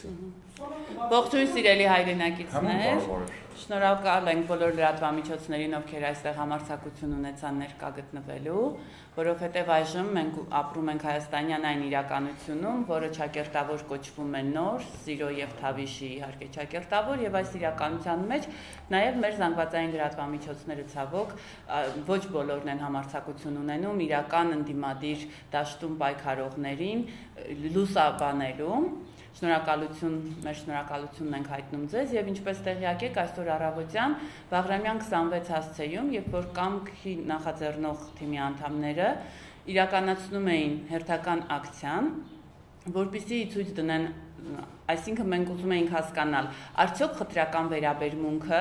Ողջույն սիրելի հայրենակիցներ, շնորհակալ ենք բոլոր լրատվամիջոցներին, ովքեր այստեղ համարձակություն ունեցան ներկա գտնվելու, որովհետև այժմ մենք ապրում ենք հայաստանյան այն իրականությունում, որը ճակերտավոր կոչվում է նոր, սիրո եւ թավիշի իհարկե ճակերտավոր, եւ այս իրականության մեջ նաեւ մեր զանգվածային լրատվամիջոցները ցավոք ոչ բոլորն են համարձակություն ունենում իրական ընդդիմադիր դաշտում պայքարողներին լուսաբանելու։ Շնորհակալություն, մեր շնորհակալությունն ենք հայտնում ձեզ եւ ինչպես տեղյակ եք այսօր առավոտյան Բաղրամյան 26 հասցեում, երբ որ կամքի նախաձեռնող թիմի անդամները իրականացնում էին հերթական ակցիան, որպեսզի ցույց դնեն, այսինքն մենք ուզում էինք հասկանալ, արդյոք խտրական վերաբերմունքը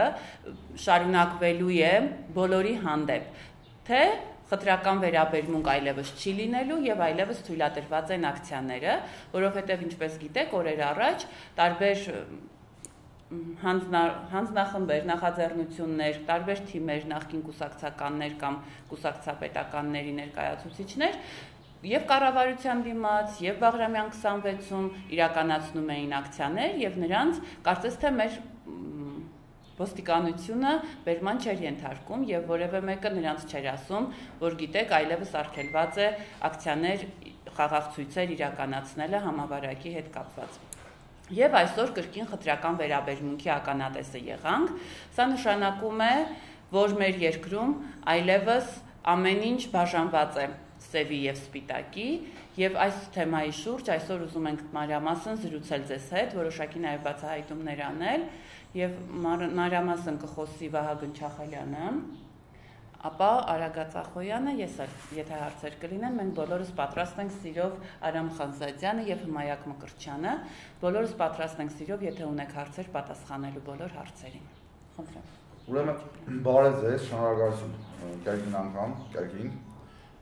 շարունակվելու է բոլորի հանդեպ, թե խտրական վերաբերմունք այլևս չի լինելու եւ այլևս թույլատրված են ակցիաները, որովհետեւ ինչպես գիտեք, օրեր առաջ տարբեր հանձնախմբեր, նախաձեռնություններ, տարբեր թիմեր, նախկին կուսակցականներ կամ կուսակցապետականների ներկայացուցիչներ եւ կառավարության դիմաց եւ Բաղրամյան 26-ում իրականացնում էին ակցիաներ եւ նրանց կարծես թե մեր ոստիկանությունը բերման չէր ենթարկում եւ որևէ մեկը նրանց չէր ասում, որ գիտեք, այլևս արգելված է ակցիաներ, խաղաղ ցույցեր իրականացնելը համավարակի հետ կապված։ Եվ այսօր կրկին խտրական վերաբերմունքի ականատեսը եղանք, սա նշանակում է, որ մեր երկրում այլևս ամեն ինչ բաժանված է սևի եւ սպիտակի եւ այս թեմայի շուրջ այսօր ուզում ենք մանրամասն զրուցել ձեզ հետ, որոշակի նաեւ բացահայտումներ անել եւ մանրամասն կխոսի Վահագն Չախալյանը, ապա Արագած Ախոյանը, ես եթե հարցեր կլինեն, մենք բոլորս պատրաստ ենք սիրով Արամ Խանզադյանը եւ Հմայակ Մկրտչյանը, բոլորս պատրաստ ենք սիրով, եթե ունեք հարցեր, պատասխանելու բոլոր հարցերին։ Խնդրեմ։ Ուրեմն բարև ձեզ, շնորհակալություն կերկին անգամ,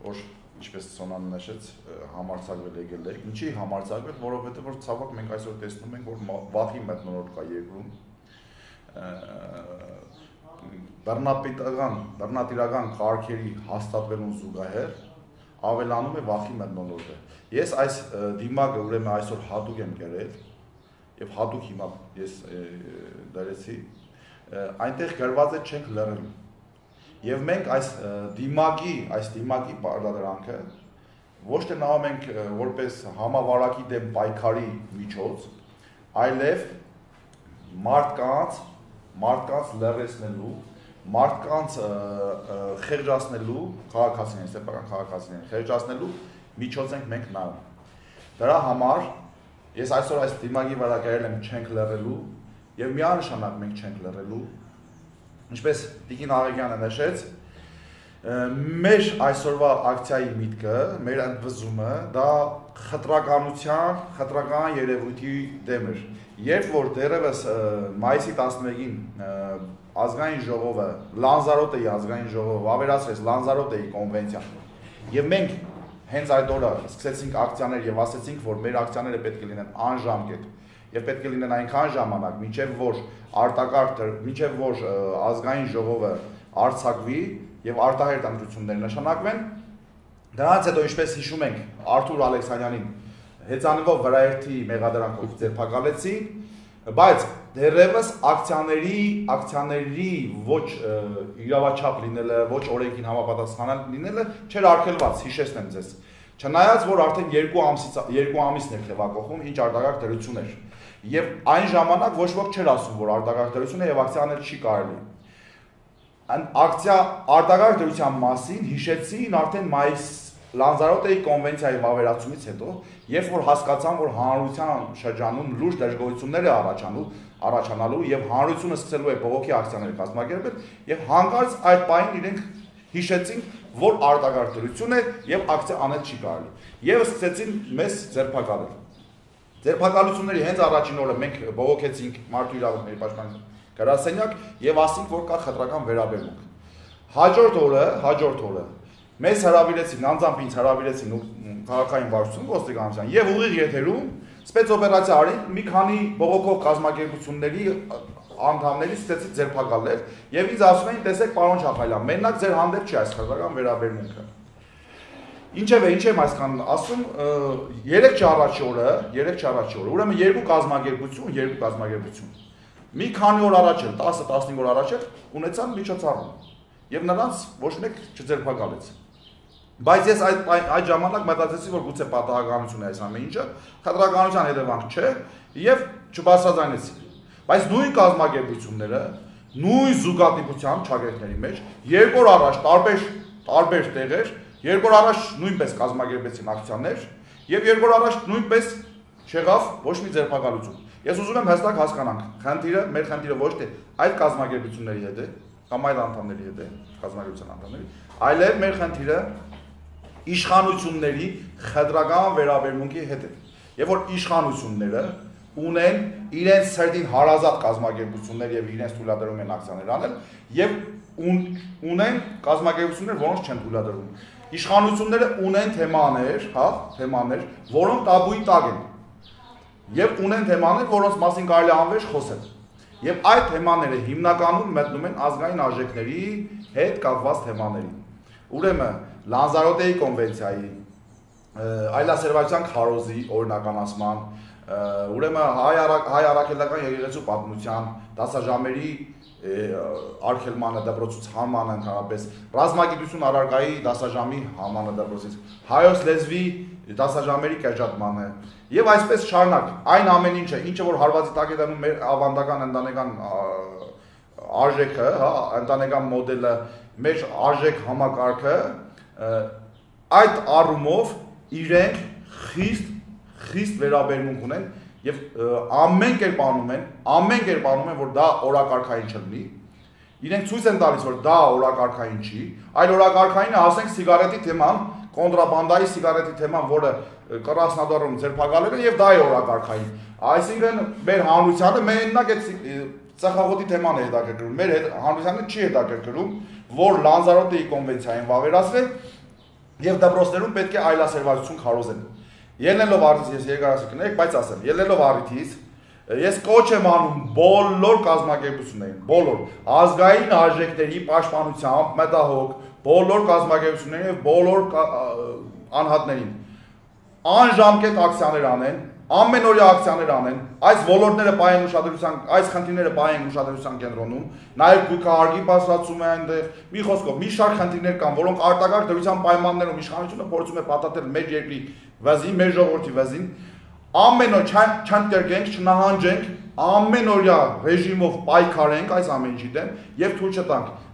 որ ինչպես Սոնան նշեց, համարձակվել եկել եք։ Ինչի համարձակվել, որովհետև որ ցավոք մենք այսօր տեսնում ենք, որ վախի մթնոլորտ կա երկրում։ Բռնատիրական կարգերի հաստատվելուն զուգահեռ ավելանում է վախի մթնոլորտը։ Ես այս դիմակը ուրեմն այսօր հատուկ եմ կերել եւ հատուկ հիմա ես դրեցի, այնտեղ գրված է չենք լռելու։ Եվ մենք այս դիմակի պարտադրանքը ոչ թե նայում ենք որպես համավարակի դեմ պայքարի միջոց, այլև մարդկանց լռեցնելու, մարդկանց խեղճացնելու, քաղաքացիներին, սեփական քաղաքացիներին խեղճացնելու միջոց ենք մենք նայում։ Դրա համար ես այսօր այս դիմակի վրա գրել եմ չենք լռելու եւ միանշանակ մենք չենք լռելու։ Ինչպես Տիկին Աղեգյանը նշեց, մեր այսօրվա ակցիայի միտքը, մեր ընդվզումը դա խտրական երևույթի դեմ էր։ Երբ որ դեռևս մայիսի 11-ին ազգային ժողովը, Լանզարոտեի ազգային ժողովը ավերացրեց Լանզարոտեի կոնվենցիան, եւ մենք հենց այդ օրը սկսեցինք ակցիաներ եւ ասեցինք, որ մեր ակցիաները պետք է լինեն անժամկետ եւ պետք է լինեն այնքան ժամանակ, մինչեւ որ ազգային ժողովը արձակվի եւ արտահերտ ընտրություններ նշանակվեն։ Դրանից հետո ինչպես հիշում ենք Արթուր Ալեքսանյանին հեծանվով վրաերթի մեղադրանքով ձերբակալեցի, բայց դեռևս ակցիաների ոչ իրավաչափ լինելը, ոչ օրենքին համապատասխան լինելը չէր արգելված, հիշեցնեմ ձեզ։ Չնայած որ արդեն 2 ամիսն էր թևակողում, ինչ արտակարգ դրություն էր։ Եվ այն ժամանակ ոչ ոք չէր ասում, որ արտակարգ դրություն է եւ ակցիաներ չի կարելի։ Արտակարգ դրության մասին հիշեցին արդեն մայիս Լանզարոտեի կոնվենցիայի վավերացումից հետո, երբ որ հասկացան, որ հանրության շրջանում լուրջ դժգոհություններ է առաջանալու եւ հանրությունը սկսելու է բողոքի ակցիաներ կազմակերպել եւ հանկարծ այդ պահին իրենք հիշեցին, որ արտակարգ դրություն է եւ ակցիա անել չի կարելի։ Եվ սկսեցին մեզ ձերբակալել։ Ձերբակալությունների հենց առաջին օրը մենք բողոքեցինք Մարդու իրավունքների պաշտպանության գրասենյակ եւ ասինք, որ կա խտրական վերաբերմունք։ Հաջորդ օրը մեզ հրավիրեցին, անձամբ ինձ հրավիրեցին քաղաքային վարչություն ոստիկանության եւ ուղիղ եթերում սպեցօպերացիա արին մի քանի բողոքող կազմակերպությունների անդամների ստեցի ձերբակալել եւ ինձ ասում էին, տեսեք պարոն Չախալյան, մենակ ձեր հանդեպ չի այս խտրական վերաբերմունքը։ Ինչևէ, ինչ եմ այսքան ասում, 3 չառաջի օրը, ուրեմն երկու կազմակերպություն։ Մի քանի օր առաջ էլ, 10-15 օր առաջ էլ ունեցան միջոցառում։ Եվ նրանց ոչ մեկ չձերբակալեց։ Բայց ես այդ ժամանակ մտածեցի, որ գուցե պատահականություն է այս ամեն ինչը, խտրականության հետևանք չէ, եւ չբարձրաձայնեցի։ Բայց նույն կազմակերպությունները, նույն զուգադիպության ճակերտների մեջ 2 օր առաջ տարբեր տեղեր, 2 օր առաջ նույնպես կազմակերպեցին ակցիաներ եւ 2 օր առաջ նույնպես չեղավ ոչ մի ձերբակալություն։ Ես ուզում եմ հստակ հասկանանք, մեր խնդիրը ոչ թե այդ կազմակերպությունների հետ է, կամ այդ անդամների հետ է, կազմակերպության անդամների, այլև մեր խնդիրը իշխանությունների խտրական վերաբերմունքի հետ է։ Եվ որ իշխանությունները ունեն իրենց սերտին հարազատ կազմակերպություններ եւ իրենց թույլատրում են ակցիաներ անել եւ ունեն կազմակերպություններ, որոնց չեն թույլատրում։ Իշխանությունները ունեն թեմաներ, որոնք տաբուի տակ են։ Եվ ունեն թեմաներ, որոնց մասին կարելի է անվերջ խոսել։ Եվ այդ թեմաները հիմնականում մտնում են ազգային արժեքների հետ կապված թեմաների։ Ուրեմն Լանզարոտեի կոնվենցիայի, այլասերվածության քարոզի օրինականացման, ուրեմն հայ առաքելական եկեղեցու պատմության, դասաժամերի արգելմանը դպրոցուցանմանը ընդհանրապես, ռազմագիտություն առարկայի դասաժամի համանը դպրոցից, հայոց լեզվի դասաժամերի կրճատմանը եւ այսպես շարունակ այն ամեն ինչը որ հարվածի տակ է դնում մեր ավանդական ընտանեկան արժեքը, ընտանեկան մոդելը, մեր արժեք համակարգը, այդ առումով իրենք խիստ վերաբերմունք ունեն եւ ամեն կերպ անում են, որ դա օրակարգային չլինի։ Իրենք ցույց են տալիս, որ դա օրակարգային չի, այլ օրակարգայինը ասենք սիգարետի թեման, կոնտրաբանդայի սիգարետի թեման, որը Կրասնոդարում ձերբակալել են եւ դա է օրակարգային։ Այսինքն մեր հանրությանը մենակ այդ ծխախոտի թեման է հետաքրքրում, մեր հանրությանը չի հետաքրքրում, որ Լանզարոտեի կոնվենցիային վավերացրել եւ դպրոցներում պետք է այլասերվածություն քարոզեն։ Ելնելով առիթից ես երկարասի կներեք, բայց ասեմ, ելնելով առիթից ես կոչ եմ անում բոլոր կազմակերպություններին, բոլոր ազգային արժեքների պաշտպանությամբ մտահոգ բոլոր կազմակերպություններին եւ բոլոր անհատներին անժամկետ ակցիաներ անեն, ամենօրյա ակցիաներ անեն, այս ոլորտները պայեն ուշադրության, այս խնդիրները պայեն ուշադրության կենտրոնում, նաև գույքահարկի բարձրացում է այնտեղ, մի խոսքով, մի շարք խնդիրներ կան, որոնք արտակարգ դրության պայմաններում իշխանությունը փորձում է պատատել մեր երկրի վզին, մեր ժողովրդի վզին, ամեն օր չընկերենք, չնահանջենք, ամենօրյա ռեժիմով պայքարենք այս ամեն ինչի դեմ եւ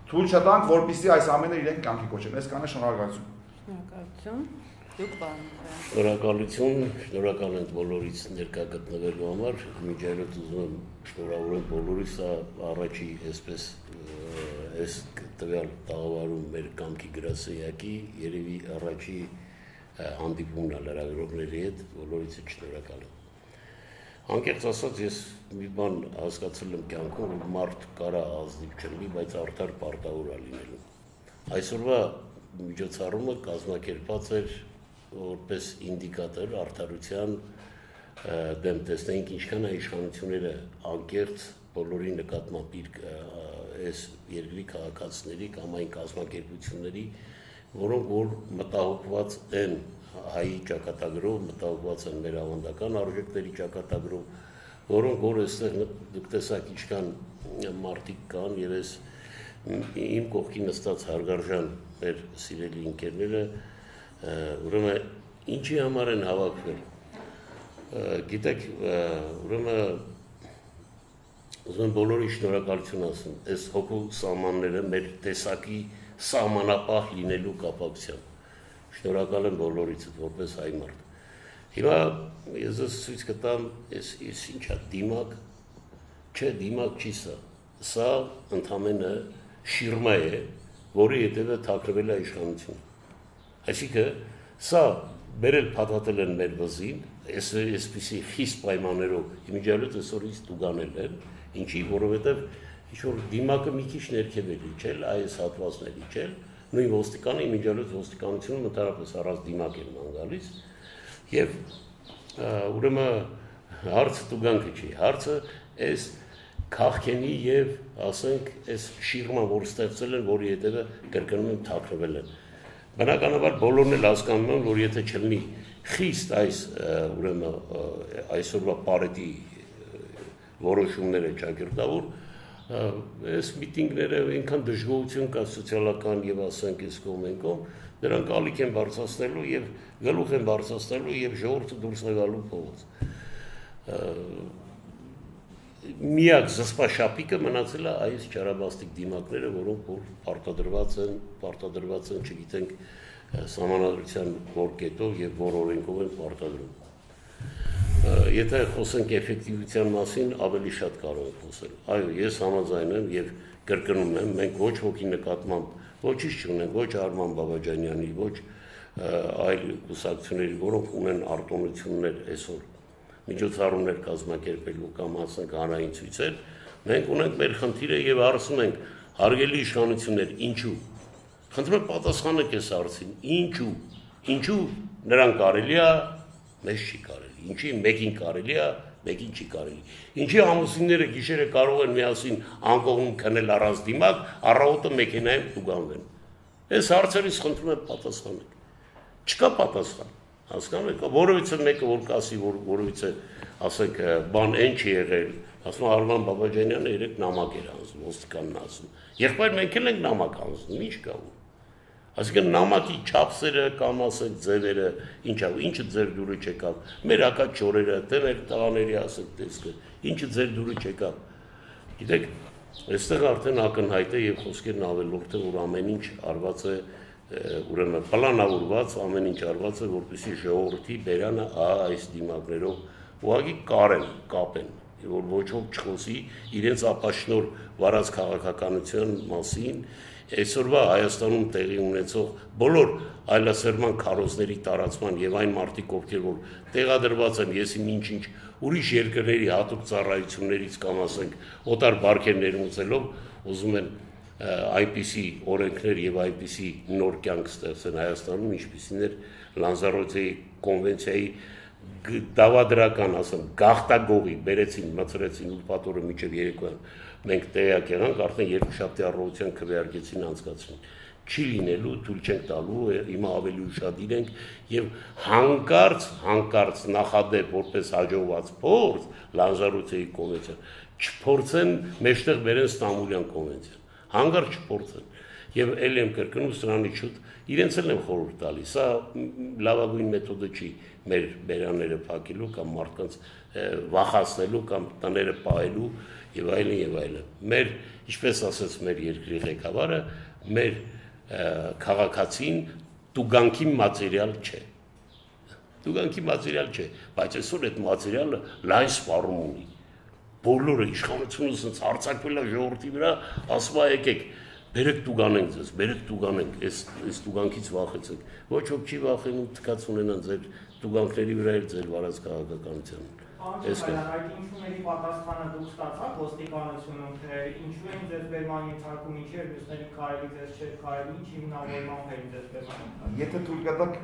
թույլ չտանք, որպեսզի այս ամենը իրենք կյանքի կոչեն։ Այսքանը շնորհակալություն։ Շնորհակալություն։ Դուք բան։ Շնորհակալ ենք բոլորից ներկա գտնվելու համար։ Միջայլոց ուզում եմ շնորհավորել բոլորիս, առաջի այսպես այս տվյալ տաղավարում մեր կամքի գրասենյակի երևի առաջի հանդիպումն է լրագրողների հետ, բոլորից շնորհակալ եմ։ Անկեղծ ասած ես մի բան հասկացել եմ կյանքում, որ մարդ կարա ազնիվ չլինի, բայց արդար պարտավոր է լինելու։ Այսօրվա միջոցառումը կազմակերպված էր որպես ինդիկատոր արդարության դեմ տեսնենք ինչքան է իշխանությունները անկեղծ բոլորի նկատմամբ այս երկրի քաղաքացիների կամ այն կազմակերպությունների, որոնք որ մտահոգված են հայի ճակատագրով, մտահոգված են մեր ավանդական արժեքների ճակատագրով, որոնք որ այստեղ դուք տեսաք ինչքան մարդիկ կան եւ այս իմ կողքի նստած հարգարժան մեր սիրելի ընկերները ուրեմն ինչի համար են հավաքվել։ Գիտեք, ուրեմն ուզում եմ բոլորի շնորհակալություն ասեմ, այս հոգու սահմանները մեր տեսակի սահմանապահ լինելու կապակցությամբ։ Շնորհակալ եմ բոլորից, որպես հայ մարդ։ Հիմա ես ցույց կտամ, այս ինչա դիմակ, չէ, դիմակ չի սա։ Սա ընդամենը շիրմա է, որի հետևը թաքնվել է իշխանությունը։ Այսինքն սա բերել փաթաթել են մեր վզին, այսպիսի խիստ պայմաններով իմիջիալոց այսօրից տուգանել են, ինչի, որովհետև ինչ-որ դիմակը մի քիչ ներքև է իջել, այս հատվածներ իջել, նույն ոստիկանը իմիջիալոց ոստիկանությունում ընդհանրապես առանց դիմակ են ման գալիս, եւ ուրեմն հարցը տուգանքը չի, հարցը այս քաղքենի եւ ասենք այս շիրմա, որ ստեղծել են, որի հետևը կրկնում եմ թաքնվել են։ Բնականաբար բոլորն էլ հասկանում են, որ եթե չլինի խիստ այս այսօրվա պարետի որոշումները ճակերտավոր, այս միտինգները այնքան դժգոհություն կա սոցիալական եւ ասենք այս կողմենքով, դրանք ալիք են բարձրացնելու եւ գլուխ են բարձրացնելու եւ ժողովուրդը դուրս է գալու փողոց։ Միակ զսպաշապիկը մնացել է այս ճարաբաստիկ դիմակները, որոնք որ պարտադրված են, չգիտենք սահմանադրության որ կետով եւ որ օրենքով են պարտադրում։ Եթե խոսենք էֆեկտիվության մասին, ավելի շատ կարող ենք խոսել։ Այո, ես համաձայն եմ եւ կրկնում եմ, մենք ոչ ոքի նկատմամբ ոչինչ չունենք, ոչ Արման Բաբաջանյանի, ոչ այլ կուսակցությունների, որոնք ունեն արտոնություններ այսօր միջոցառումներ կազմակերպելու կամ ասենք հանրային ցույցեր, մենք ունենք մեր խնդիրը եւ հարցում ենք հարգելի իշխանություններ, ինչու։ Խնդրում եմ պատասխանեք այս հարցին, ինչու նրան կարելի է, մեզ չի կարելի, ինչի մեկին կարելի է, մեկին չի կարելի։ Ինչի ամուսինները գիշերը կարող են միասին անկողնում քնել առանց դիմակ, առավոտը մեքենայում տուգանվեն։ Այս հարցերից խնդրում եմ պատասխանեք։ Չկա պատասխան։ Հասկանում եք, որովհետեւ մեկը որ կասի, որովհետեւ ասենք բան այն չի եղել, ասում Արման Բաբաջանյանը երեք նամակ էր անձնում, ոստիկանն ասում։ Եղբայր մենք էլ ենք նամակ անձնում, ինչ կա ու։ Այսինքն նամակի չափսերը կամ ասենք ձևերը, ինչը ձեր դուրը չեկավ, մեր հակած չորերը, թե մեր տղաների ասենք տեսքը, ինչը ձեր դուրը չեկավ։ Գիտեք, այստեղ արդեն ակնհայտ է եւ խոսքերն ավելորդ է, որ ամեն ինչ արված է ուրեմն պլանավորված ամեն ինչ արված է, որպեսզի ժողովրդի բերանը այս դիմակներով ուղղակի կապեն, որ ոչ ոք չխոսի իրենց ապաշնոր վարած քաղաքականության մասին, այսօրվա Հայաստանում տեղի ունեցող բոլոր այլասերման քարոզների տարածման եւ այն մարդիկ, ովքեր որ տեղադրված են, ես ինչ ուրիշ երկրների հատուկ ծառայություններից կամ ասենք օտար բարքերներ ունեցելով, ուզում են այնպիսի օրենքներ եւ այնպիսի նոր կյանք ստեղծեն Հայաստանում, ինչպիսին էր Լանզարոտեի կոնվենցիայի դավադրական, ասեմ, գաղտագողի բերեցին, մցրեցին ուրբաթ օրը մինչև երեկոյան։ Մենք տեղյակ եղանք, արդեն երկուշաբթի առավոտյան քվեարկեցին անցկացրին։ Չի լինելու, թույլ չենք տալու, հիմա ավելի ուշադիր ենք եւ հանկարծ նախադեպ որպես հաջողված փորձ Լանզարոտեի կոնվենցիան չփորձեն մեջտեղ բերեն Ստամբուլյան կոնվենցիան։ Հանգարց չփորձեն եւ ել եմ կրկնում սրանից շուտ իրենց էլ եմ խորհուրդ տալիս սա լավագույն մեթոդը չի մեր բերանները փակելու կամ մարդկանց վախացնելու կամ տները պահելու եւ այլն մեր ինչպես ասաց մեր երկրի ղեկավարը մեր քաղաքացին տուգանքի մատերիալ չէ բայց այսօր այդ մատերիալը լայն սպառում ունի բոլորը իշխանությունը ասած հարցակվել է ժողովրդի վրա, ասում է եկեք, բերեք տուգանենք ձեզ, բերեք տուգանենք, այս տուգանքից վախեցեք։ Ոչ ոք չի վախենում, թքած ունենան ձեր տուգանքների վրա էլ ձեր վարած քաղաքականության։ Այս ինչումների պատասխանը դուք ստացաք ոստիկանությունում, թե ինչու են ձեզ բերման ենթարկում, ինչեր մյուսների կարելի ձեզ չէր կարելի, ինչ հիմնավորմամբ էին ձեզ բերման։ Եթե թույլ կտաք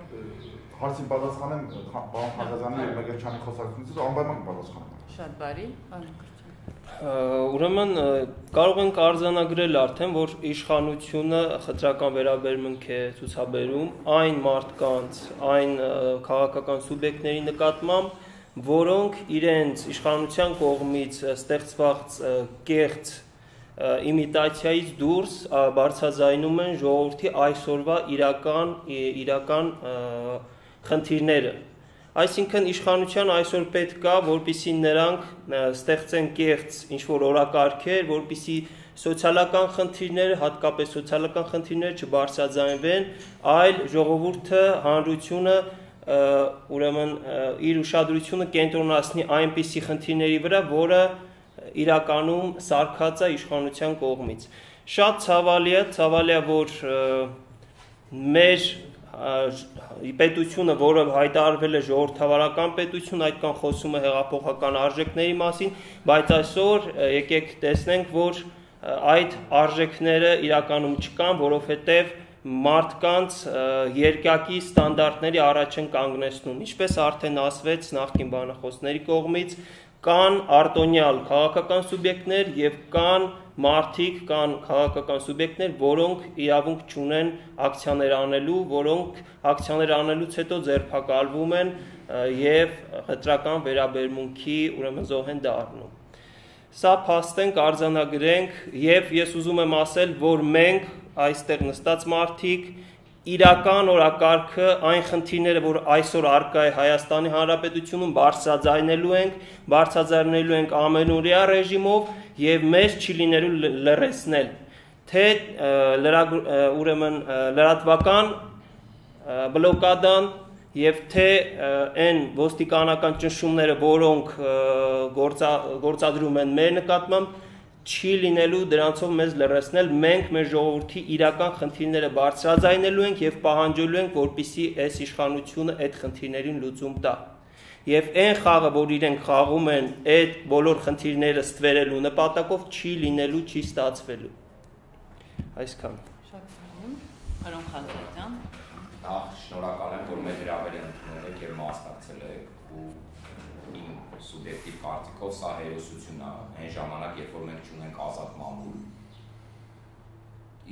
հարցին պատասխանեմ պարոն Խաչատրյանի եւ Մեկերչյանի խոսակցությունից, անպայման կպատասխանեմ։ Շատ բարի, Ուրեմն կարող ենք արձանագրել արդեն, որ իշխանությունը խտրական վերաբերմունք է ցուցաբերում այն մարդկանց, այն քաղաքական սուբյեկտների նկատմամբ, որոնք իրենց իշխանության կողմից ստեղծված կեղծ իմիտացիայից դուրս բարձրաձայնում են ժողովրդի այսօրվա իրական խնդիրները։ Այսինքն իշխանության այսօր պետք է, որպեսզի նրանք ստեղծեն կեղծ ինչ-որ օրակարգեր, որպեսզի սոցիալական խնդիրները, հատկապես սոցիալական խնդիրները չբարձրաձայնվեն, այլ ժողովուրդը, հանրությունը ուրեմն իր ուշադրությունը կենտրոնացնի այնպիսի խնդիրների վրա, որը իրականում սարքած է իշխանության կողմից։ Շատ ցավալի է, որ մեր պետությունը, որը հայտարարվել է ժողովրդավարական պետություն, այդքան խոսում է հեղափոխական արժեքների մասին, բայց այսօր եկեք տեսնենք, որ այդ արժեքները իրականում չկան, որովհետև մարդկանց երկակի ստանդարտների առաջ են կանգնեցնում, ինչպես արդեն ասվեց նախկին բանախոսների կողմից, կան արտոնյալ քաղաքական սուբյեկտներ եւ կան մարդիկ, կան քաղաքական սուբյեկտներ, որոնք իրավունք չունեն ակցիաներ անելու, որոնք ակցիաներ անելուց հետո ձերբակալվում են եւ խտրական վերաբերմունքի ուրեմն զոհ են դառնում։ Սա փաստենք արձանագրենք եւ ես ուզում եմ ասել, որ մենք այստեղ նստած մարդիկ իրական օրակարգը այն խնդիրները, որ այսօր առկա է Հայաստանի Հանրապետությունում, բարձրաձայնելու ենք ամենօրյա ռեժիմով եւ մեզ չի լինելու լրացնել, թե ուրեմն լրատվական բլոկադան եւ թե այն ոստիկանական ճնշումները, որոնք գործադրում են մեր նկատմամբ, չի լինելու դրանցով մեզ լրացնել, մենք մեր ժողովրդի իրական խնդիրները բարձրաձայնելու ենք եւ պահանջելու ենք, որպեսզի այս իշխանությունը այդ խնդիրներին լուծում տա։ Եվ այն խաղը, որ իրենք խաղում են այդ բոլոր խնդիրները ստվերելու նպատակով, չի լինելու, չի ստացվելու։ Այսքան։ Պարոն Խանձարյան։ Նախ շնորհակալ եմ, որ մեր հրավերը ընդունել եք եւ մասնակցել եք ու իմ սուբյեկտիվ կարծիքով սա հերոսություն է այն ժամանակ, երբ որ մենք ունենք ազատ մամուլ։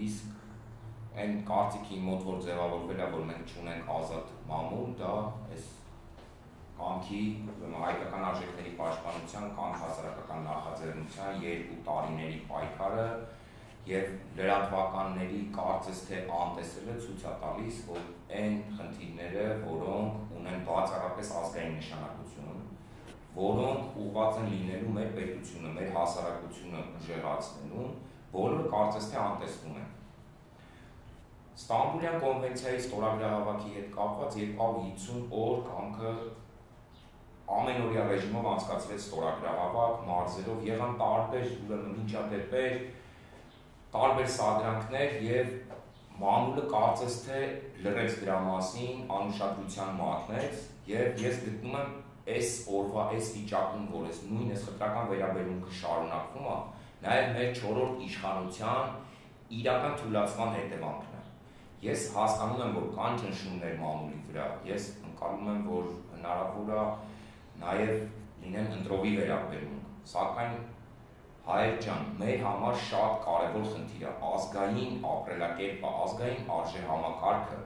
Իսկ այն կարծիքի մոտ որ ձևավորվել է, որ մենք ունենք ազատ մամուլ, դա այս կամքի հայկական արժեքների պաշտպանության կամ հասարակական նախաձեռնության 2 տարիների պայքարը եւ լրատվականների կարծես թե անտեսելը ցույց է տալիս, որ այն խնդիրները, որոնք ունեն բացառապես ազգային նշանակություն, որոնք ուղղված են լինելու մեր պետությունը, մեր հասարակությունը ուժեղացնելու, բոլորը կարծես թե անտեսվում են։ Ստամբուլյան կոնվենցիայի ստորագրահավաքի հետ կապված եկավ 50 օր կամքը ամենօրյա ռեժիմով անցկացվեց ստորագրահավաք, մարզերով եղան տարբեր ուրեմն միջադեպեր, տարբեր սադրանքներ եւ մամուլը կարծես թե լրեց դրա մասին, անուշադրության մատնեց եւ ես գտնում եմ այս օրվա այս վիճակում, որ այս նույն այս խտրական վերաբերմունքը շարունակվում է, նաեւ մեր 4-րդ իշխանության իրական թույլատվման հետևանքն է։ Ես հասկանում եմ, որ կան ճնշումներ մամուլի վրա, ես ընկալում եմ, որ հնարավոր է նաեւ լինեն ընտրովի վերաբերմունք, սակայն հայեր ջան, մեր համար շատ կարևոր խնդիր է ազգային ապրելակերպը, ազգային արժեհամակարգը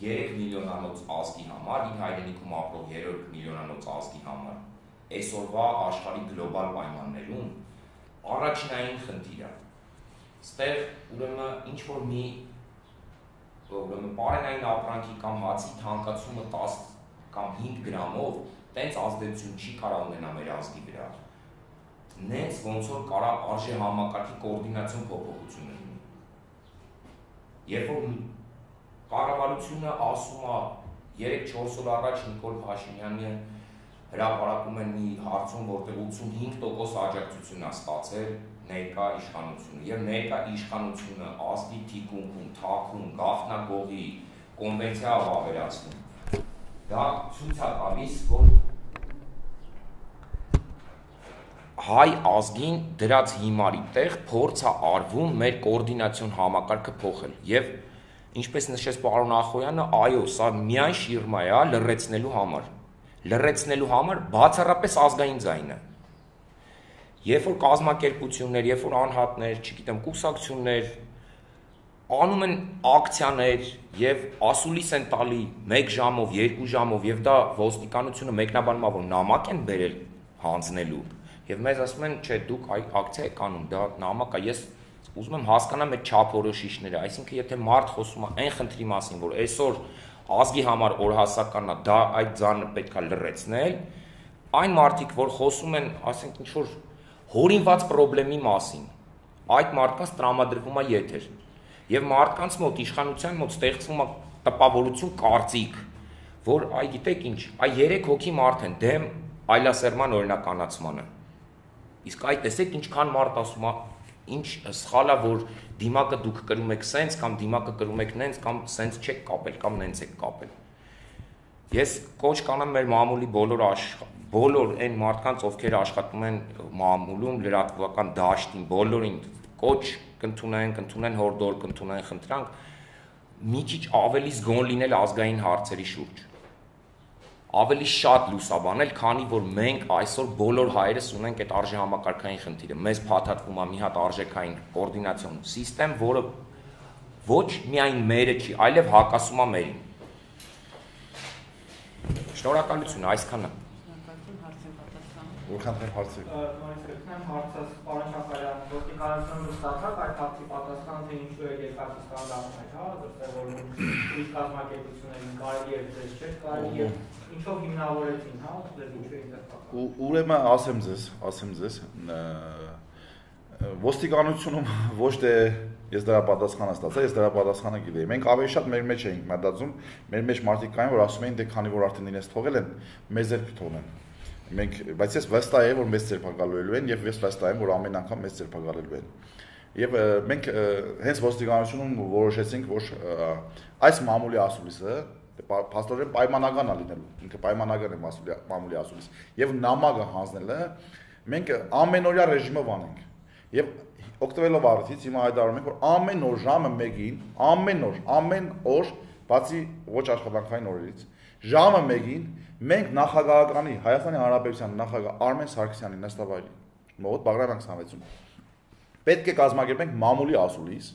3 միլիոնանոց ազգի համար, իր հայրենիքում ապրող 3 միլիոնանոց ազգի համար, այսօրվա աշխարհի գլոբալ պայմաններում առաջնային խնդիր է։ Ստեղ ուրեմն ինչ որ մի պարենային ապրանքի կամ հացի թանկացումը 10 կամ 5 գրամով տենց ազդեցություն չի կարող ունենա մեր ազգի վրա։ Նենց ոնց որ կարող արժեհամակարգի կոորդինացիոն փոփոխություն լինի։ Երբ որ կառավարությունը ասում է 3-4 օր առաջ Նիկոլ Փաշինյանը հրապարակում են մի հարցում, որտեղ 85% աջակցություն է ստացել ներկա իշխանությունը եւ ներկա իշխանությունը ազգի թիկունքում, թաքուն, գաղտնագողի կոնվենցիա ավերացնում։ Դա ցույց է տալիս, որ հայ ազգին դրած հիմարի տեղ փորձ է արվում մեր կոորդինացիոն համակարգը փոխել եւ ինչպես նշեց պարոն Ախոյանը, այո, սա միայն շիրմա է լրացնելու համար բացառապես ազգային ձայնը։ Երբ որ կազմակերպություններ, երբ որ անհատներ, չգիտեմ, կուսակցություններ անում են ակցիաներ եւ ասուլիս են տալի 1 ժամով, 2 ժամով եւ դա ոստիկանությունը մեկնաբանումա որ նամակ են բերել հանձնելու եւ մեզ ասում են, չէ, դուք ակցիա եք անում, դա նամակ է, ես ուզում եմ հասկանամ այդ չափորոշիչները, այսինքն եթե մարդ խոսում է այն խնդրի մասին, որ այսօր ազգի համար օրհասական է, դա այդ ձանը պետք է լրացնել, այն մարդիկ, որ խոսում են, ասենք ինչ որ հորինված խնդրի մասին, այդ մարդկանց տրամադրվում է եթեր։ Եվ մարդկանց մոտ իշխանության մոտ ստեղծվում է տպավորություն, կարծիք, որ այ գիտեք ինչ, այ 3 հոգի մարդ են դեմ այլասերման օրինականացմանը։ Իսկ այ տեսեք ինչքան մարդ ասում է, ինչ սխալ է, որ դիմակը դուք կրում եք սենց կամ դիմակը կրում եք նենց կամ սենց չեք կապել կամ նենց եք կապել։ Ես կոչ կանեմ մեր մամուլի բոլոր այն մարդկանց, ովքեր աշխատում են մամուլում, լրատվական դաշտին, բոլորին կոչ կընդունեն հորդոր, կընդունեն խնդրանք, մի քիչ ավելի զգոն լինել ազգային հարցերի շուրջ։ ավելի շատ լուսաբանել, քանի որ մենք այսօր բոլոր հայերս ունենք այդ արժեհամակարգային խնդիրը։ Մեզ փաթաթվում է մի հատ արժեքային կոորդինացիոն համակարգ, որը ոչ միայն մերը չի, այլև հակասում է մերին։ Շնորհակալություն, այսքանը։ Որքան հարցեր։ Նորից կգտնեմ հարցս պարոն Շաքարյան, ոստիկանությունը ստացավ այդ հարցի պատասխան, թե ինչու է երկաթի ստանդարտներ, հա, դրսևորում ուրիշ կազմակերպություններին կարելի է ձեզ չէ, կարելի է ինչով հիմնավորեցին, հա, ձեզ ինչու է դեպքը։ Ուրեմն ասեմ ձեզ, ոստիկանությունում ոչ թե ես դրա պատասխանը ստացա, ես դրա պատասխանը գիտեի։ Մենք ավելի շատ մեր մեջ էինք մտածում, մեր մեջ մարդիկ կային, որ ասում էին, դե քանի որ արդեն իրենց թողել են, մեզ էլ թողնեն։ Մենք, բայց ես վստահ եմ, որ մեզ ձերբակալվելու են եւ ես վստահ եմ, որ ամեն անգամ մեզ ձերբակալելու են։ Եվ մենք հենց ոստիկանությունում որոշեցինք, որ այս մամուլի ասուլիսը փաստորեն պայմանական է լինելու, ինքը պայմանական է մամուլի ասուլիս, եւ նամակը հանձնելը մենք ամենօրյա ռեժիմով անենք։ Եվ օգտվելով առիթից հիմա հայտարարում ենք, որ ամեն օր ժամը 1-ին, ամեն օր, բացի ոչ աշխատանքային օրերից, ժամը 1-ին մենք նախագահականի Հայաստանի Հանրապետության նախագահ Արմեն Սարգսյանի նստավայրի մոտ Բաղրամյան 26-ում պետք է կազմակերպենք մամուլի ասուլիս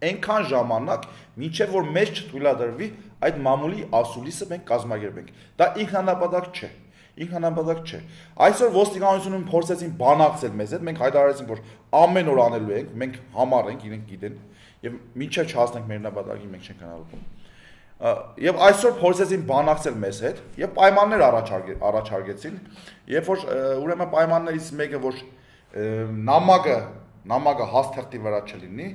այնքան ժամանակ, մինչև որ մեզ չթույլատրվի այդ մամուլի ասուլիսը մենք կազմակերպենք։ Դա ինքնանպատակ չէ։ Ինքնանպատակ չէ։ Այսօր ոստիկանությունում փորձեցին բանակցել մեզ հետ, մենք հայտարարեցինք, որ ամեն օր անելու ենք, մենք համառ ենք, իրենք գիտեն, եւ մինչև չհասնենք մեր նպատակին մենք չենք հնարավորում։ Եվ այսօր փորձեցին բանակցել մեզ հետ եւ պայմաններ առաջարկեցին, երբ որ ուրեմն պայմաններից մեկը որ նամակը հաստեղտի վրա չլինի,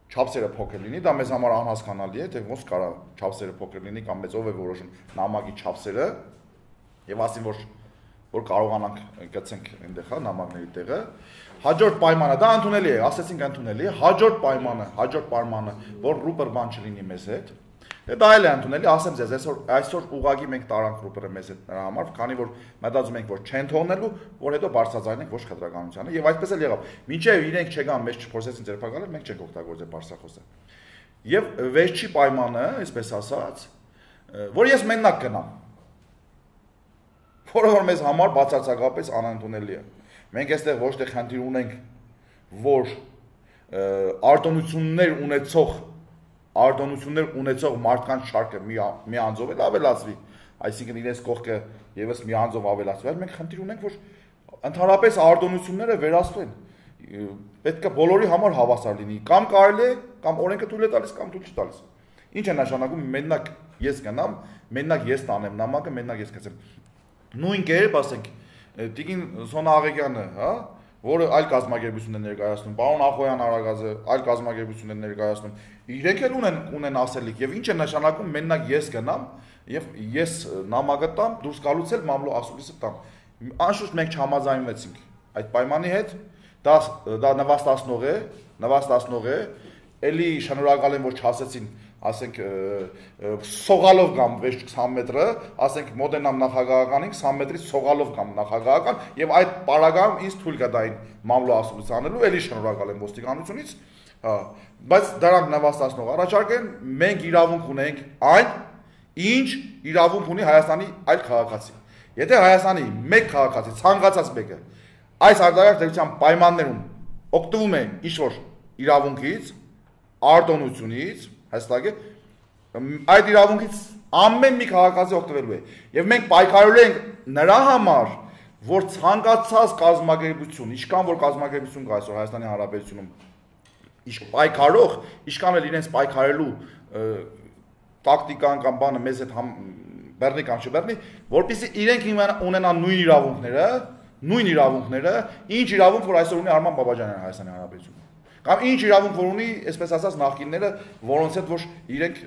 չափսերը փոքր լինի, դա մեզ համար անհասկանալի է, թե ոնց կարա չափսերը փոքր լինի կամ մեզ ով է որոշում նամակի չափսերը եւ ասին որ կարողանանք գցենք այնտեղ հա նամակների տեղը։ Հաջորդ պայմանը դա ընդունելի է, ասեցինք ընդունելի է, հաջորդ պայմանը, որ ռուպեր բան չլինի մեզ հետ։ Դա էլ է ընդունելի, ասեմ ձեզ, այսօր ուղղակի մենք տարանք ռուպերը մեզ հետ նրա համար, քանի որ մտածում ենք, որ չեն թողնելու, որ հետո բարձրացնենք ոչ խտրականությանը, եւ այսպես էլ եղավ։ Մինչեւ իրենք չգան, մեզ չփորձեցին ձերբակալել, մենք չենք օգտագործել բարձրախոսը։ Եվ վերջի պայմանը, այսպես ասած, որ ես մենակ գնամ, որը որ մեզ համար բացարձակապես անընդունելի է։ Մենք այստեղ ոչ թե խնդիր ունենք, որ արտոնություններ ունեցող մարդկանց շարքը մի անձով էլ ավելացվի, այսինքն իրենց կողքը եւս մի անձով ավելացվի, մենք խնդիր ունենք, որ ընդհանրապես արտոնությունները վերացվեն։ Պետք է բոլորի համար հավասար լինի, կամ կարելի է, կամ օրենքը թույլ է տալիս, կամ թույլ չի տալիս։ Ինչ է նշանակում մենակ ես գնամ, մենակ ես տանեմ նամակը, մենակ ես գցեմ։ Նույն կերպ ասենք Տիկին Սոնա Աղեգյանը, հա, որը այլ կազմակերպություն է ներկայացնում, պարոն Ախոյան Արագազը այլ կազմակերպություն է ներկայացնում, իրենք էլ ունեն ասելիք եւ ինչ է նշանակում մենակ ես գնամ եւ ես նամակը տամ, դուրս գալուց էլ մամլո ասուլիսը տամ։ Անշուշտ մենք չհամաձայնվեցինք այդ պայմանի հետ, դա նվաստացնող է, էլի շնորհակալ եմ որ չասեցին, ասենք սողալով գամ 20 մետրը, ասենք մոտենամ նախագահականին 20 մետրից սողալով գամ նախագահական եւ այդ պարագայում ինձ թույլ կա դային մամլո ասուլիս անելու, էլի շնորհակալ եմ ոստիկանությունից, բայց դրանք նվաստացնող առաջարկ են, մենք իրավունք ունենք այն, ինչ իրավունք ունի Հայաստանի այլ քաղաքացի։ Եթե Հայաստանի մեկ քաղաքացի ցանկացած մեկը այս արտարակ դեպության պայմաններում օգտվում է ինչ-որ իրավունքից, արտոնությունից, հստակ է, այդ իրավունքից ամեն մի քաղաքացի օգտվելու է։ Եվ մենք պայքարելու ենք նրա համար, որ ցանկացած կազմակերպություն, ինչքան որ կազմակերպություն կա այսօր Հայաստանի Հանրապետությունում, պայքարող, ինչքան էլ իրենց պայքարելու տակտիկան կամ բանը մեզ հետ բեռնի կամ չբեռնի, որպեսզի իրենք ունենան նույն իրավունքները, ինչ իրավունք որ այսօր ունի Արման Բաբաջանյանը Հայաստանի Հանրապետությունում։ Կամ ինչ իրավունք որ ունի, այսպես ասած, նախկինները, որոնց հետ որ իրենք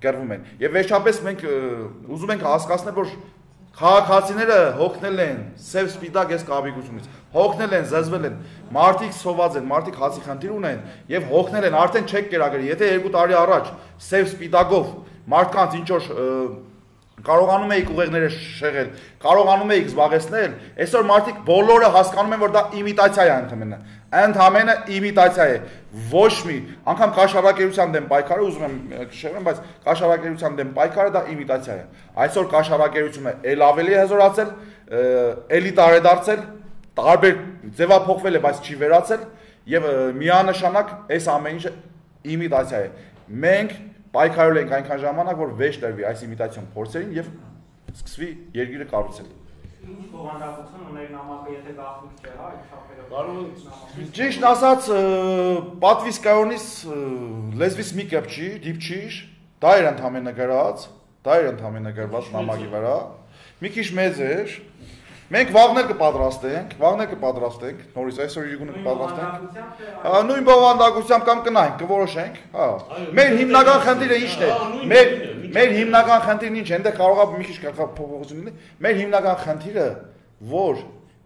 կերվում են։ Եվ վերջապես մենք ուզում ենք հասկացնել, որ քաղաքացիները հոգնել են սև սպիտակ այս կապիկությունից, հոգնել են, զզվել են, մարդիկ սոված են, մարդիկ հացի խնդիր ունեն եւ հոգնել են, արդեն չեք կերակրի, եթե 2 տարի առաջ սև սպիտակով մարդկանց ինչ որ կարողանում էիք ուղեղները շեղել, կարողանում էիք զբաղեցնել, այսօր մարդիկ բոլորը հասկանում են, որ դա իմիտացիա է ընդհանրապես իմիտացիա է, ոչ մի, անգամ կաշառակերության դեմ պայքարը, ուզում եմ շեղեմ, բայց կաշառակերության դեմ պայքարը դա իմիտացիա է, այսօր կաշառակերությունը էլ ավելի հզորացել, էլի տարեդարձել, տարբեր ձևափոխվել է, բայց չի վերացել, եւ միանշանակ այս ամեն ինչը իմիտացիա է, մենք պայքարել ենք այնքան ժամանակ, որ վեճ տրվի այս իմիտացիոն փորձերին եւ սկսվի երկիրը կառուցել։ Ինչ բովանդակություն ուներ նամակը, եթե գաղտնիք չէ, հա, չափերով։ Ճիշտ ասած, պատվիս կայոնից լեզվից մի կապ չի, դիպչիշ, դա էր ընդհանրապես գրված նամակի վրա։ Մի քիչ մեծ էր։ Մենք վաղներ կպատրաստենք, նորից այսօր իրիկունը կպատրաստենք։ Նույն բովանդակությամբ կամ կնայենք, կորոշենք, հա։ Մեր հիմնական խնդիրը ի՞նչն է։ Մեր հիմնական խնդիրն ինչ է, այնտեղ կարող է մի քիչ փոփոխություն լինի։ Մեր հիմնական խնդիրը, որ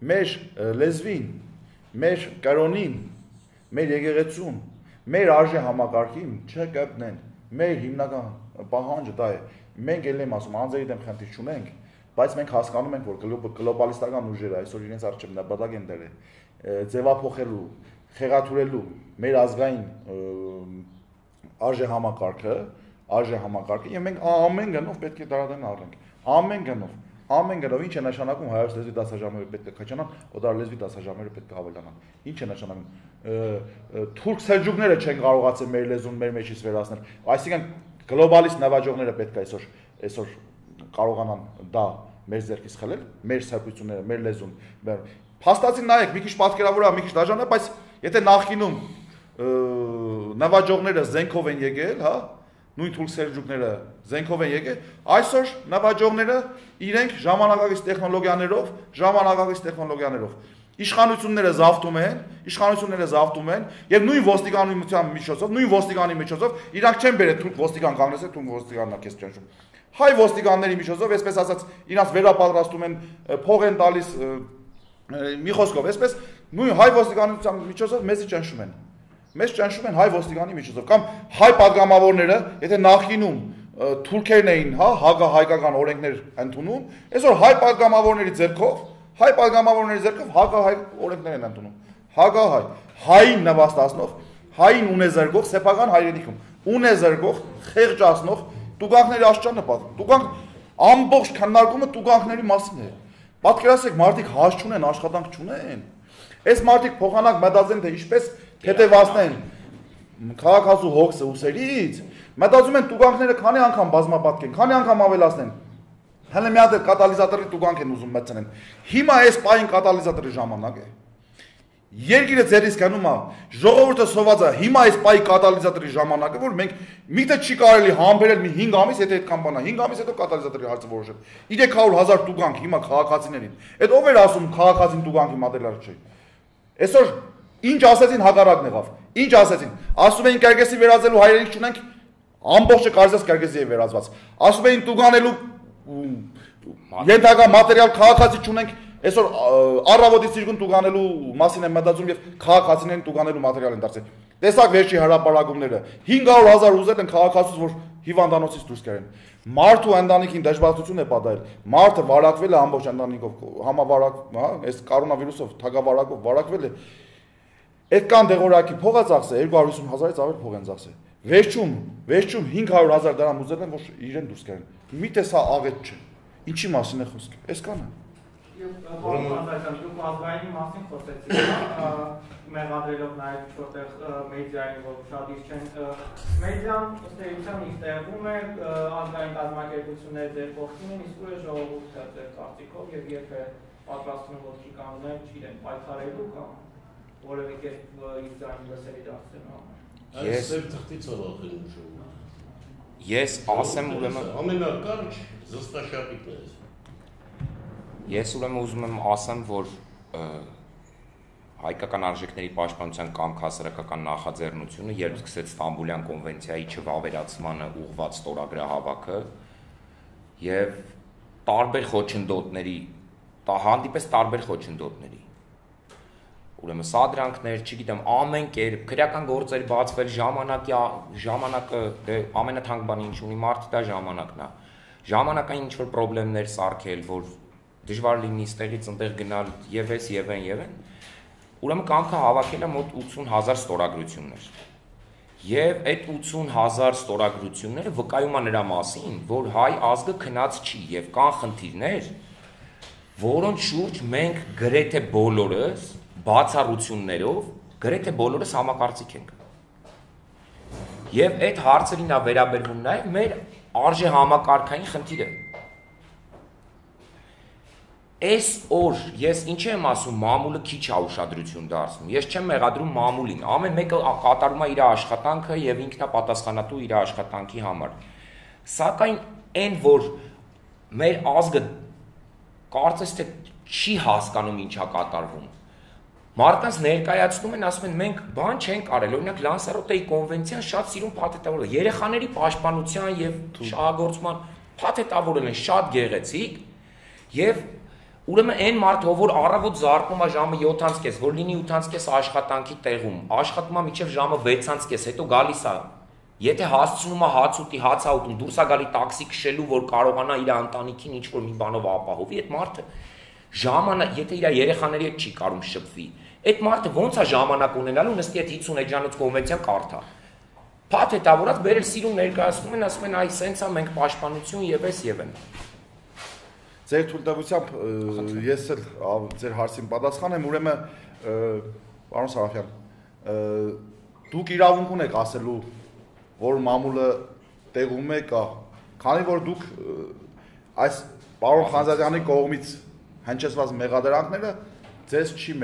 մեր լեզվին, մեր կրոնին, մեր եկեղեցուն, մեր արժե համակարգին չկպնեն։ Մեր հիմնական պահանջը դա է։ Մենք ել եմ ասում, անձերի դեմ խնդիր չունենք, բայց մենք հասկանում ենք, որ գլոբալիստական ուժերը այսօր իրենց առջև նպատակ են դրել ձևափոխելու, խեղաթյուրելու մեր ազգային արժե համակարգը, եւ մենք ամեն գնով պետք է դրադեն առնենք, ամեն գնով ինչ է նշանակում հայոց լեզվի դասաժամերը պետք է քչանան, օտար լեզվի դասաժամերը պետք է հավելանան, ինչ է նշանակում թուրք սելջուկները չեն կարողացել մեր լեզուն մեր մեջից վերացնել, այսինքն գլոբալիստ նվաճողները պետք է այսօր կարողանան դա մեր ձեռքից խլել, մեր սրբությունները, մեր լեզուն։ Փաստացին նայեք, մի քիչ պատկերավորը, մի քիչ դաժան է, բայց եթե նախկինում նվաճողները զենքով են եկել, հա, նույն թուրք սելջուկները զենքով են եկել, այսօր նվաճողները իրենք ժամանակակից տեխնոլոգիաներով իշխանությունները զավթում են եւ նույն ոստիկանության միջոցով իրանք չեն բերել թուրք ոստիկան կանգնեցել, թուրք ոստիկանն է քեզ ճնշում։ Հայ ոստիկանների միջոցով, այսպես ասած, իրանց վերապատրաստում են, փող են տալիս, մի խոսքով, այսպես նույն հայ ոստիկանության միջոցով մեզի ճնշում են։ Մեզ ճնշում են հայ ոստիկանի միջոցով, կամ հայ падգամավորները, եթե նախկինում թուրքերն էին, հա, հակահայկական օրենքներ ընդունում, այսօր հայ падգամավորների ձեռքով հակահայ օրենքներ են ընդունում։ Հակահայ, հային նվաստացնող, հային ունեզրկող, սեփական հայրենիքում ունեզրկող, խեղճացնող տուգանքների աշճանը պատմում։ Տուգանք ամբողջ քննարկումը տուգանքների մասին է։ Պատկերացրեք, մարդիկ հաշ չունեն, աշխատանք չունեն։ Այս մարդիկ փոխանակ մտածեն, թե ինչպես թեթևացնեն քաղաքացու հոգսը ուսերից, մտածում են տուգանքները քանի անգամ բազմապատկեն, քանի անգամ ավելացնեն։ Հələ մի հատ կատալիզատորի տուգանք են ուզում մտցնեն։ Հիմա այս պահին կատալիզատորի ժամանակ է։ Երկիրը ձերից գնում է, ժողովուրդը սոված է, հիմա այս պահի կատալիզատորի ժամանակը, որ մենք միտը չի կարելի համբերել մի 5 ամիս, եթե այդքան բան է, 5 ամիս հետո կատալիզատորի հարցը որոշել։ 300,000 տուգանք հիմա քաղաքացիներին։ Այդ ով էր ասում քաղաքացին տուգանքի մատերիալ չէ։ Այսօր ինչ ասեցին հակառակն եղավ։ Ինչ ասեցին։ Ասում էին Կերգեսի վերածելու հայրենիք չունենք, ամբողջը կարծես Կերգեսի է վերածված։ Ասում էին տուգանելու ենթակա մատերիալ քաղաքացի չունենք, այսօր առավոտից իրգուն տուգանելու մասին են մտածում եւ քաղաքացիներին տուգանելու մատերիալ են դարձել։ Տեսակ վերջի հրապարակումները 500,000 ուզել են քաղաքացուց, որ հիվանդանոցից դուրս կերեն։ Մարդու ընտանիքին դժբախտություն է պատահել։ Մարդը վարակվել է ամբողջ ընտանիքով, համավարակ, հա, այս կորոնավիրուսով թագավարակով վարակվել է։ Այդքան դեղորայքի փող է ծախսել, 250,000-ից ավել փող են ծախսել։ Վերջում 500,000 դրամ ուզել են, որ իրեն դուրս կերեն։ Միթե սա աղետ չէ։ Ինչի մասին է խոսքը։ Այսքանը։ Դուք ազգային մասին խոսեցիք, մեղադրելով նաև որտեղ մեդիային, որ շատ իսկ չեն, մեդիան ըստ էության իսկ տեղում է ազգային կազմակերպությունները ձեր կողքին են, իսկ ուրիշ ժողովուրդը ձեր կարծիքով եւ եթե պատրաստվում ոտքի կանգնել, չգիտեմ, պայքարելու կամ որևէ կերպ իր ձայնը լսելի դարձնելու համար։ Ես թղթից ողախին ուժում։ Ես ասեմ ուրեմն ամենակարճ զստաշապիկն է։ Ես ուրեմն ուզում եմ ասեմ, որ հայկական արժեքների պաշտպանության կամք հասարակական նախաձեռնությունը, երբ սկսեց Ստամբուլյան կոնվենցիայի չվավերացմանը ուղղված ստորագրահավաքը եւ տարբեր խոչընդոտների, հանդիպես տարբեր խոչընդոտների։ Ուրեմն սադրանքներ, չգիտեմ, ամեն կերպ քրեական գործեր բացվել ժամանակը, դե ամենաթանկ բանը ինչ ունի մարդը դա ժամանակն է։ ժամանակային ինչ-որ պրոբլեմներ սարքել, որ դժվար լինի ստեղից ընդեղ գնալ եւ էս եւ այն, ուրեմն կամքը հավաքել է մոտ 80,000 ստորագրություններ։ Եվ այդ 80,000 ստորագրությունները վկայում են նրա մասին, որ հայ ազգը քնած չի եւ կան խնդիրներ, որոնց շուրջ մենք գրեթե բոլորս բացառություններով գրեթե բոլորս համակարծիք ենք։ Եվ այդ հարցերին է վերաբերվում նաեւ մեր արժե համակարգային խնդիրը։ Այս օր ես ինչ եմ ասում, մամուլը քիչ է ուշադրություն դարձնում։ Ես չեմ մեղադրում մամուլին։ Ամեն մեկը կատարում է իր աշխատանքը եւ ինքն է պատասխանատու իր աշխատանքի համար։ Սակայն այն, որ մեր ազգը կարծես թե չի հասկանում ինչա կատարվում։ Մարդկանց ներկայացնում են, ասում են մենք բան չենք արել, օրինակ Լանսարոտեի կոնվենցիան շատ սիրուն փաթեթավորել է։ Երեխաների պաշտպանության եւ շահագործման փաթեթավորել են շատ գեղեցիկ եւ ուրեմն այն մարդը, որ առավոտ զարկում է ժամը 7:30, որ լինի 8:30 աշխատանքի տեղում, աշխատում է մինչև ժամը 6:30, հետո գալիս է։ Եթե հասցնում է հաց ուտի, հաց է ուտում, դուրս է գալի տաքսի քշելու, որ կարողանա իր ընտանիքին ինչ-որ մի բանով ապահովի, այդ մարդը ժամանակ, եթե իր երեխաների հետ չի կարում շփվի, այդ մարդը ո՞նց է ժամանակ ունենալու նստի այդ 50 էջանոց կոնվենցիան կարդա։ Փաթեթավորած բերել սիրուն ներկայացնում են, ասում են այ սենց է, մենք պաշտպանություն եւ էս եւ այն։ Ձեր թույլտվությամբ ես էլ ձեր հարցին պատասխանեմ, ուրեմն պարոն Սարաֆյան, դուք իրավունք ունեք ասելու, որ մամուլը տեղում է կա, քանի որ դուք այս պարոն Խանզադյանի կողմից հնչեցված մեղադրանքները ձեզ չի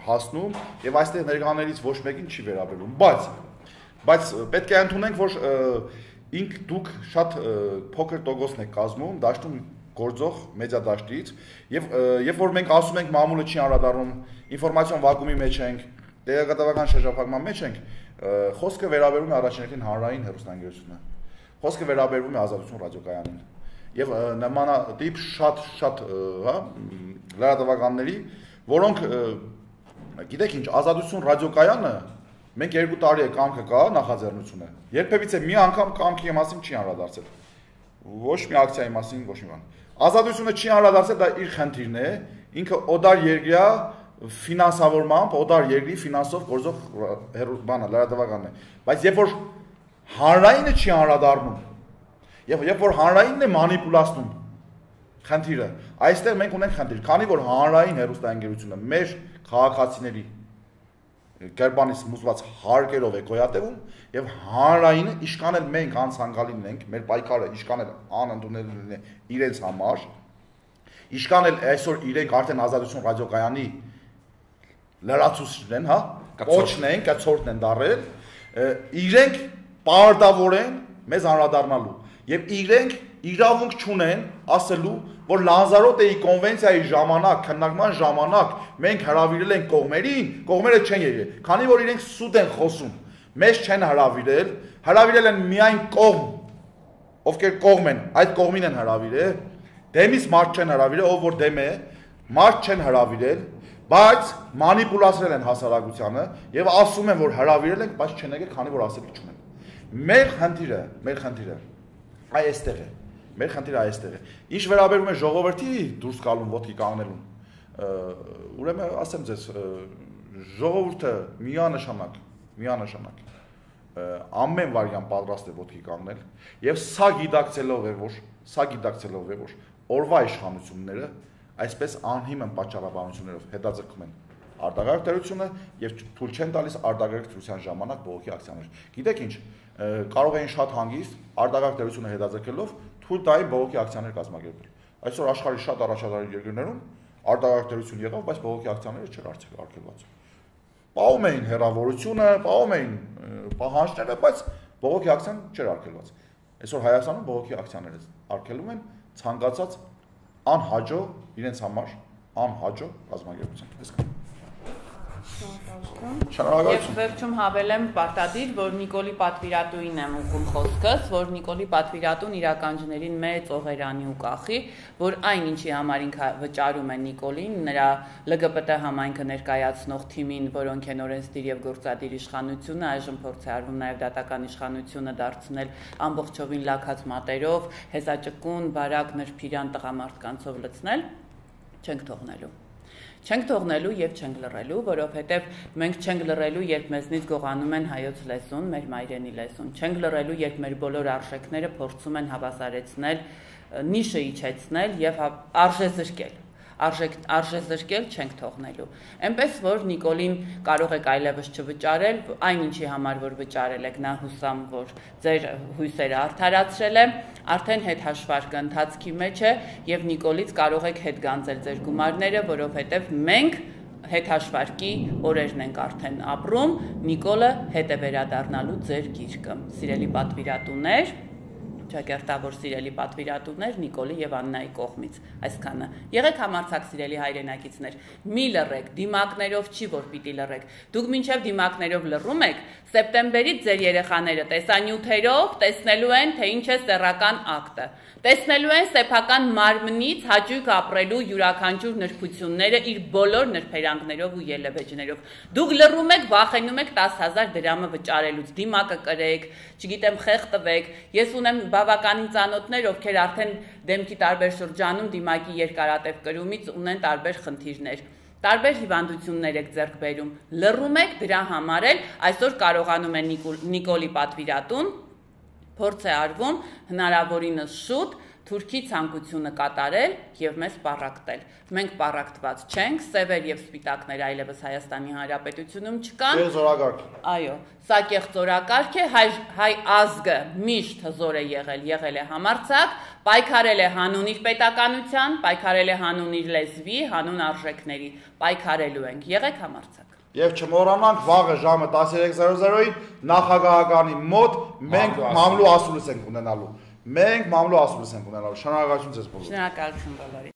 հասնում եւ այստեղ ներկաներից ոչ մեկին չի վերաբերում, բայց պետք է ընդունենք, որ ինք դուք շատ փոքր տոկոսն եք կազմում դաշտում գործող մեդիա դաշտից եւ երբ որ մենք ասում ենք մամուլը չի անդրադառնում ինֆորմացիոն վակուումի մեջ ենք, տեղեկատվական շրջափակման մեջ ենք, խոսքը վերաբերում է առաջին հանրային հեռուստաընկերությունը։ Խոսքը վերաբերվում է Ազատություն ռադիոկայանին։ Եվ նմանատիպ շատ լրատվականների, որոնք գիտեք ինչ, Ազատություն ռադիոկայանը մենք 2 տարի է կամքը կա նախաձեռնությունը։ Երբևիցե մի անգամ կամքի մասին չի անդրադարձել։ Ոչ մի ակցիայի մասին, ոչ մի բան։ Ազատությունը չի անդրադարձել, դա իր խնդիրն է, ինքը օդար երկրյա ֆինանսավորմամբ, օդար երկրի ֆինանսով գործող բանը, լրատվականն է։ Բայց երբ որ հանրայինը չի անդրադառնում, եւ երբ որ հանրայինն է մանիպուլացնում խնդիրը, այստեղ մենք ունենք խնդիր, քանի որ հանրային հեռուստաընկերությունը մեր քաղաքացիների Գերբանից մուզված հարկերով է գոյատևում եւ հանրայինը իշքան էլ մենք անցանկալին ենք, մեր պայքարը իշքան էլ անընդունելին է իրենց համար, իշքան էլ այսօր իրենք արդեն Ազատություն ռադիոկայանի լրացուցիչն են, հա, կոչն են, կցորդն են դարել, իրենք պարտավոր են մեզ անդրադառնալու եւ իրենք իրավունք չունեն ասելու, որ Լանզարոտեի կոնվենցիայի ժամանակ, քննարկման ժամանակ մենք հրավիրել ենք կողմերին, կողմերը չեն եկել, քանի որ իրենք սուտ են խոսում, մեզ չեն հրավիրել, հրավիրել են միայն կողմ, ովքեր կողմ են, այդ կողմին են հրավիրել, դեմից մարդ չեն հրավիրել, ով որ դեմ է, մարդ չեն հրավիրել, բայց մանիպուլացրել են հասարակությանը եւ ասում են, որ հրավիրել ենք, բայց չեն եկել, քանի որ ասելիք չունեն։ Մեր խնդիրը այստեղ է։ Մեր խնդիրը այստեղ է։ Ինչ վերաբերում է ժողովրդի դուրս գալուն ոտքի կանգնելուն, ուրեմն ասեմ ձեզ, ժողովուրդը միանշանակ ամեն վարյան պատրաստ է ոտքի կանգնել եւ սա գիտակցելով է, որ օրվա իշխանությունները այսպես անհիմն պատճառաբանություններով հետաձգում են արտագաղթ դերությունը եւ թույլ չեն տալիս արտագաղթ դրության ժամանակ բողոքի ակցիաներ։ Գիտեք ինչ, կարող էին շատ հանգիստ արտագաղթ դերությունը հետաձգելով թույլ տային բողոքի ակցիաներ կազմակերպել։ Այսօր աշխարհի շատ առաջադար երկրներում արտագաղթ դերություն եղավ, բայց բողոքի ակցիաները չեր արգելված։ Պահում էին հեռավորությունը, պահում էին պահանջները, բայց բողոքի ակցիան չէր արգելված։ Այսօր Հայաստանում բողոքի ակցիաները արգելում են ցանկացած անհաջո իրենց համար անհաջո կազմակերպության։ Շնորհակալություն։ Եվ վերջում հավելեմ պարտադիր, որ Նիկոլի պատվիրատուին եմ ուղղում խոսքս, որ Նիկոլի պատվիրատուն իրականջներին մեծ օղերանի ու կախի, որ այն ինչի համար ինքը վճարում է Նիկոլին, նրա ԼԳԲՏ համայնքը ներկայացնող թիմին, որոնք են օրենսդիր եւ գործադիր իշխանությունը, այժմ փորձ է արվում նաեւ դատական իշխանությունը դարձնել ամբողջովին լաքած մատերով, հեզաճկուն, բարակ, նրբիրան տղամարդկանցով լցնել, չենք թողնելու։ Չենք թողնելու եւ չենք լռելու, որովհետեւ մենք չենք լռելու, երբ մեզնից գողանում են հայոց լեզուն, մեր մայրենի լեզուն։ Չենք լռելու, երբ մեր բոլոր արժեքները փորձում են հավասարեցնել, նիշը իջեցնել եւ արժեզրկել։ Արժեզրկել չենք թողնելու։ Էնպես որ Նիկոլին կարող եք այլևս չվճարել, այն ինչի համար որ վճարել եք, նա հուսամ, որ ձեր հույսերը արդարացրել է, արդեն հետհաշվարկը ընթացքի մեջ է եւ Նիկոլից կարող եք հետ գանձել ձեր գումարները, որովհետեւ մենք հետհաշվարկի օրերն ենք արդեն ապրում, Նիկոլը հետ է վերադառնալու ձեր գիրկը։ Սիրելի պատվիրատուներ, ճակերտավոր սիրելի պատվիրատուներ Նիկոլի եւ Աննայի կողմից այսքանը։ Եղեք համարձակ սիրելի հայրենակիցներ, մի լռեք, դիմակներով չի որ պիտի լռեք։ Դուք մինչեւ դիմակներով լռում եք, սեպտեմբերից ձեր երեխաները տեսանյութերով տեսնելու են, թե ինչ է սեռական ակտը։ Տեսնելու են սեփական մարմնից հաճույք ապրելու յուրաքանչյուր նրբությունները իր բոլոր նրբերանգներով ու ելևէջներով։ Դուք լռում եք, վախենում եք 10,000 դրամը վճարելուց, դիմակը կրեք, չգիտեմ, խեղ տվեք։ Ես ունեմ բավականին ծանոթներ, ովքեր արդեն դեմքի տարբեր շրջանում դիմակի երկարատև կրումից ունեն տարբեր խնդիրներ։ Տարբեր հիվանդություններ եք ձեռք բերում։ Լռում եք, դրա համար էլ այսօր կարողանում է Նիկոլի պատվիրատուն փորձ է արվում հնարավորինս շուտ Թուրքի ցանկությունը կատարել եւ մեզ պառակտել։ Մենք պառակտված չենք, սևեր եւ սպիտակներ այլևս Հայաստանի Հանրապետությունում չկան։ Զորակարգ։ Այո, սա կեղծ զորակարգ է, հայ ազգը միշտ հզոր է եղել է համարձակ, պայքարել է հանուն իր պետականության, պայքարել է հանուն իր լեզվի, հանուն արժեքների, պայքարելու ենք, եղեք համարձակ։ Եվ չմոռանանք վաղը ժամը 13:00-ին նախագահականի մոտ մենք մամլու ասուլիս ենք ունենալու։ Շնորհակալություն ձեզ բոլորին։ Շնորհակալություն բոլորին։